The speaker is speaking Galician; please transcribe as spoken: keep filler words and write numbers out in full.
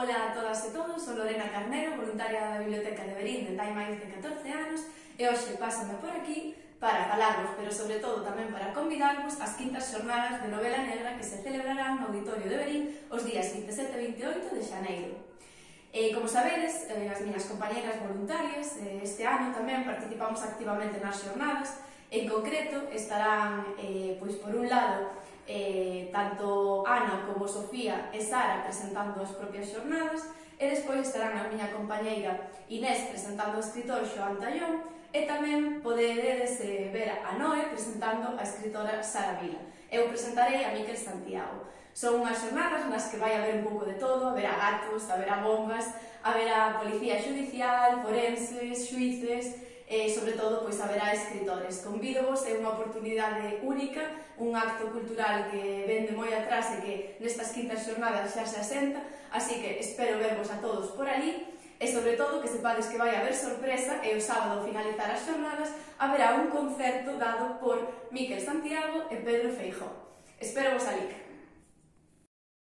Ola a todas e todos, sou Lorena Carnero, voluntaria da Biblioteca de Verín de hai máis de catorce anos e hoxe pásame por aquí para falarvos, pero sobre todo tamén para convidarvos ás quintas xornadas de novela negra que se celebrarán no Auditorio de Verín os días vinte e sete e vinte e oito de xaneiro. E, como sabedes, as miñas compañeras voluntarias este ano tamén participamos activamente nas xornadas. En concreto estarán, eh, pois por un lado, eh, tanto Ana como Sofía e Sara presentando as propias xornadas e despois estarán a miña compañeira Inés presentando o escritor Xoán Tallón e tamén poderedes eh, ver a Noé presentando a escritora Sara Vila. Eu presentarei a Miquel Santiago. Son unhas xornadas nas que vai haber un pouco de todo, haberá gatos, haberá bombas, haberá policía xudicial, forenses, xuíces e, sobre todo, pois haberá escritores. Convídovos, é unha oportunidade única, un acto cultural que ven de moi atrás e que nestas quintas xornadas xa se asenta, así que espero vervos a todos por ali e, sobre todo, que sepades que vai haber sorpresa e o sábado, ao finalizar as xornadas, haberá un concerto dado por Miquel Santiago e Pedro Feijóo. Espero vos alí.